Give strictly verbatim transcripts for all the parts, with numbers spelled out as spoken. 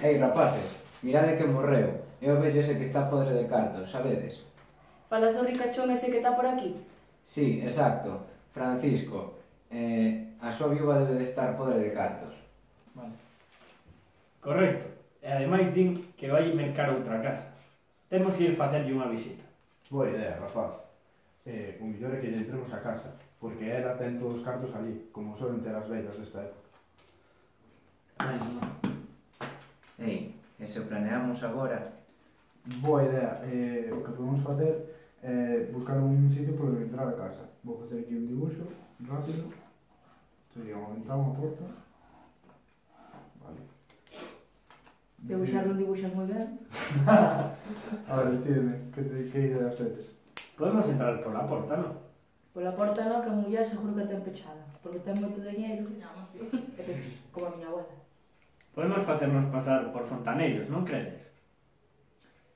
Ei, rapaces, mirade que morreu. É o vello ese que está podre de cartos, sabedes? Falas do ricachón ese que está por aquí? Sí, exacto. Francisco. Eh, a súa viúva debe de estar podre de cartos. Vale. Correcto. E ademais din que vai mercar outra casa. Temos que ir facerlle unha visita. Boa idea, rapaz. Eh, o mellor é que lle entremos a casa, porque ela ten todos os cartos ali, como suelen ter as vellas desta época. Ai, non. Ei, e se planeamos agora? Boa idea. Eh, o que podemos facer é buscar un sitio por onde entrar a casa. Vou facer aquí un dibuixo rápido. Sería unha ventana, unha porta. Vale. Debuxar non dibuxas moi ben. A ver, decídeme, que, te, que ideas tedes? Podemos entrar pola porta, non? Pola porta non, que a muller seguro que ten pechada. Porque ten moito dinheiro. E pecha, como a miña abuela. Podemos facernos pasar por fontaneiros, non credes?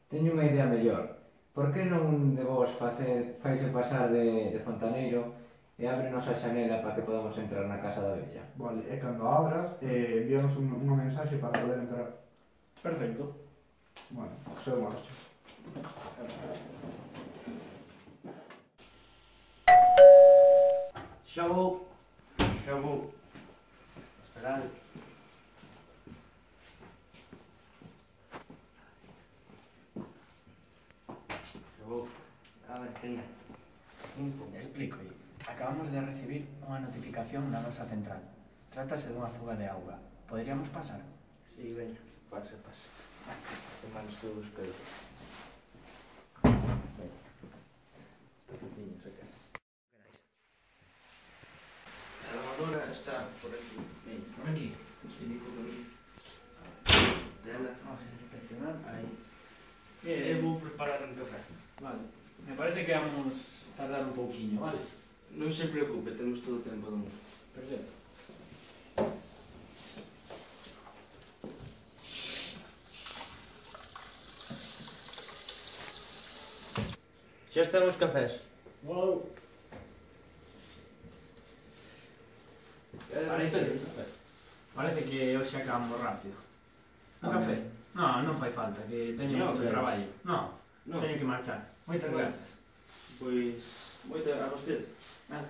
Teño unha idea mellor. Por que non de vos face, faise pasar de, de fontaneiro e ábrenos a xanela para que podamos entrar na casa da vella? Vale, e cando abras, eh, envíanos un, unha mensaxe para poder entrar. Perfecto. Bueno, seu marcha. Xa vou, xa vou. Esperad. Xa vou. A ver, que é? Explico. Acabamos de recibir unha notificación na nosa central. Trátase dunha fuga de auga. Poderíamos pasar? Si, veña, pase, pase. Que mal estou os pedos. Veña. Tapuciño, se queres. A lavadora está por aquí. Veña. Por aquí. Si, digo por aquí. Tela. Vamos a inspeccionar. Aí. Eu vou preparar un café. Vale. Me parece que vamos tardar un pouquiño, vale? Non se preocupe, temos todo o tempo do mundo. Perfecto. Xa están os cafés. Wow. Parece, parece que hoxe acabamos rápido. Un café? No, non fai falta, que teño Non, moito queres? traballo. No, Non. teño que marchar. Moitas Bueno. grazas. Pois, moita a vostede. Nada.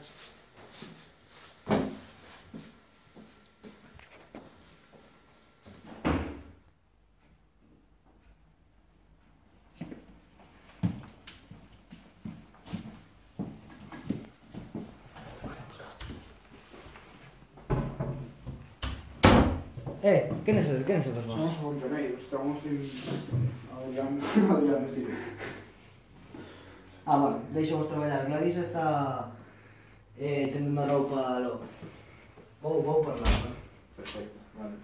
Eh, quen es, quen es dos vos? Somos fontaneiros, estamos en Adrián, Adrián, sí. Ah, vale, deixo vos traballar. Gladys está eh, tendendo a roupa logo. Vou, vou por lá, ¿no? Perfecto, vale.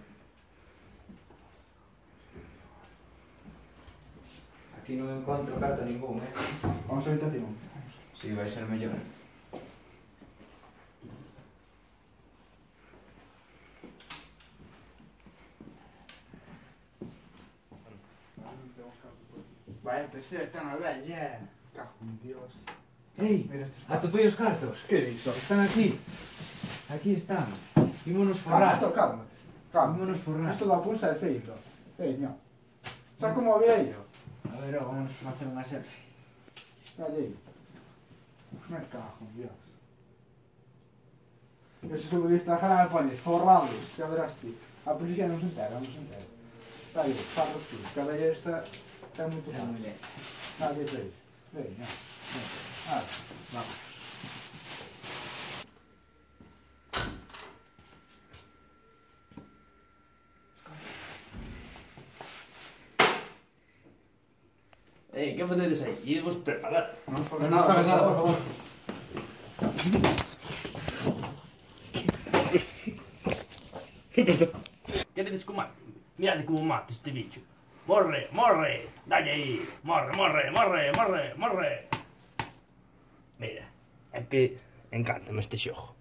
Aquí non encontro carta ningún, eh? Vamos a habitación. Si, vai ser mellor. Vaya P C, está na vella. Cajo en Dios. Ei, Mira estes atopei os cartos. Que dixo? Están aquí. Aquí están. Ímonos Calma, forrar. cálmate. Cálmate. Ímonos forrar. Isto da pulsa é feito. Veña. Xa como había yo. A ver, ó, vamos a facer unha selfie. Allí. Me cago en Dios. Ese sube o Instagram e pones forrados, ya verás ti. A policía non se entera, non se entera. Dale, farros tú, que a vella esta é moito É fácil. moi lento. Dale, play. Veña. Ah, Vamos. Ei, que facedes aí? Idevos preparar. non Non nos fagas nada, por favor. Queredes que o mate? Mirade como mate este bicho. Morre, morre, dalle aí. Morre, morre, morre, morre, morre. Mira, é que encántame este xogo.